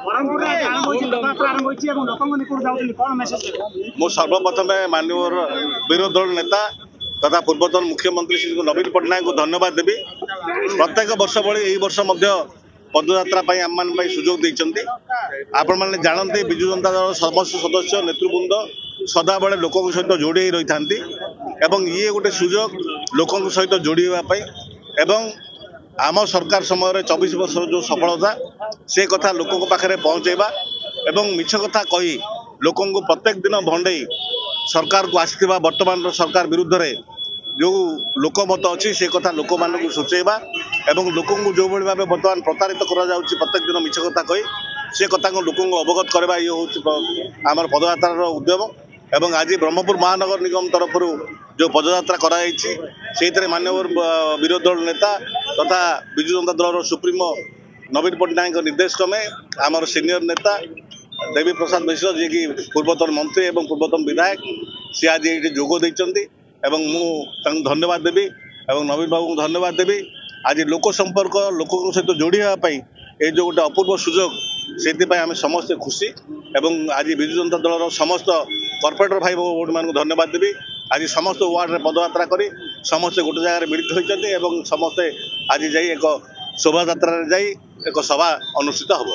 ବ୍ରହ୍ମପୁରରେ ଆରମ୍ଭ ହୋଇଛି, ପଦଯାତ୍ରା ଆରମ୍ଭ ହୋଇଛି ଏବଂ ଲୋକଙ୍କ ନିକଟକୁ ଯାଉଛନ୍ତି, କ'ଣ ମେସେଜ ଦେବେ? ମୁଁ ସର୍ବପ୍ରଥମେ ମାନ୍ୟବର ବିରୋଧୀ ଦଳ ନେତା ତଥା ପୂର୍ବତନ ମୁଖ୍ୟମନ୍ତ୍ରୀ ଶ୍ରୀ ନବୀନ ପଟ୍ଟନାୟକଙ୍କୁ ଧନ୍ୟବାଦ ଦେବି। ପ୍ରତ୍ୟେକ ବର୍ଷ ଭଳି ଏହି ବର୍ଷ ମଧ୍ୟ ପଦଯାତ୍ରା ପାଇଁ ଆମମାନଙ୍କ ପାଇଁ ସୁଯୋଗ ଦେଇଛନ୍ତି। ଆପଣମାନେ ଜାଣନ୍ତି, ବିଜୁ ଜନତା ଦଳର ସମସ୍ତ ସଦସ୍ୟ ନେତୃବୃନ୍ଦ ସଦାବେଳେ ଲୋକଙ୍କ ସହିତ ଯୋଡ଼ି ହୋଇ ରହିଥାନ୍ତି ଏବଂ ଇଏ ଗୋଟେ ସୁଯୋଗ ଲୋକଙ୍କ ସହିତ ଯୋଡ଼ି ହେବା ପାଇଁ ଏବଂ ଆମ ସରକାର ସମୟରେ 24 ବର୍ଷର ଯେଉଁ ସଫଳତା ସେ କଥା ଲୋକଙ୍କ ପାଖରେ ପହଞ୍ଚାଇବା ଏବଂ ମିଛ କଥା କହି ଲୋକଙ୍କୁ ପ୍ରତ୍ୟେକ ଦିନ ଭଣ୍ଡେଇ ସରକାରକୁ ଆସିଥିବା ବର୍ତ୍ତମାନର ସରକାର ବିରୁଦ୍ଧରେ ଯେଉଁ ଲୋକମତ ଅଛି ସେ କଥା ଲୋକମାନଙ୍କୁ ସୂଚାଇବା ଏବଂ ଲୋକଙ୍କୁ ଯେଉଁଭଳି ଭାବେ ବର୍ତ୍ତମାନ ପ୍ରତାରିତ କରାଯାଉଛି ପ୍ରତ୍ୟେକ ଦିନ ମିଛ କଥା କହି, ସେ କଥାକୁ ଲୋକଙ୍କୁ ଅବଗତ କରିବା, ଇଏ ହେଉଛି ଆମର ପଦଯାତ୍ରାର ଉଦ୍ୟମ। ଏବଂ ଆଜି ବ୍ରହ୍ମପୁର ମହାନଗର ନିଗମ ତରଫରୁ ଯେଉଁ ପଦଯାତ୍ରା କରାଯାଇଛି, ସେଇଥିରେ ମାନ୍ୟବର ବିରୋଧୀ ଦଳ ନେତା ତଥା ବିଜୁ ଜନତା ଦଳର ସୁପ୍ରିମୋ ନବୀନ ପଟ୍ଟନାୟକଙ୍କ ନିର୍ଦ୍ଦେଶ କ୍ରମେ ଆମର ସିନିୟର ନେତା ଦେବୀ ପ୍ରସାଦ ମିଶ୍ର, ଯିଏକି ପୂର୍ବତନ ମନ୍ତ୍ରୀ ଏବଂ ପୂର୍ବତନ ବିଧାୟକ, ସେ ଆଜି ଏଇଠି ଯୋଗ ଦେଇଛନ୍ତି ଏବଂ ମୁଁ ତାଙ୍କୁ ଧନ୍ୟବାଦ ଦେବି ଏବଂ ନବୀନ ବାବୁଙ୍କୁ ଧନ୍ୟବାଦ ଦେବି। ଆଜି ଲୋକ ସମ୍ପର୍କ, ଲୋକଙ୍କ ସହିତ ଯୋଡ଼ି ହେବା ପାଇଁ ଏଇ ଯେଉଁ ଗୋଟେ ଅପୂର୍ବ ସୁଯୋଗ, ସେଥିପାଇଁ ଆମେ ସମସ୍ତେ ଖୁସି। ଏବଂ ଆଜି ବିଜୁ ଜନତା ଦଳର ସମସ୍ତ କର୍ପୋରେଟର ଭାଇ ଭଉଣୀମାନଙ୍କୁ ଧନ୍ୟବାଦ ଦେବି। ଆଜି ସମସ୍ତ ୱାର୍ଡ଼ରେ ପଦଯାତ୍ରା କରି ସମସ୍ତେ ଗୋଟେ ଜାଗାରେ ମିଳିତ ହୋଇଛନ୍ତି ଏବଂ ସମସ୍ତେ ଆଜି ଯାଇ ଏକ ଶୋଭାଯାତ୍ରାରେ ଯାଇ ଏକ ସଭା ଅନୁଷ୍ଠିତ ହେବ।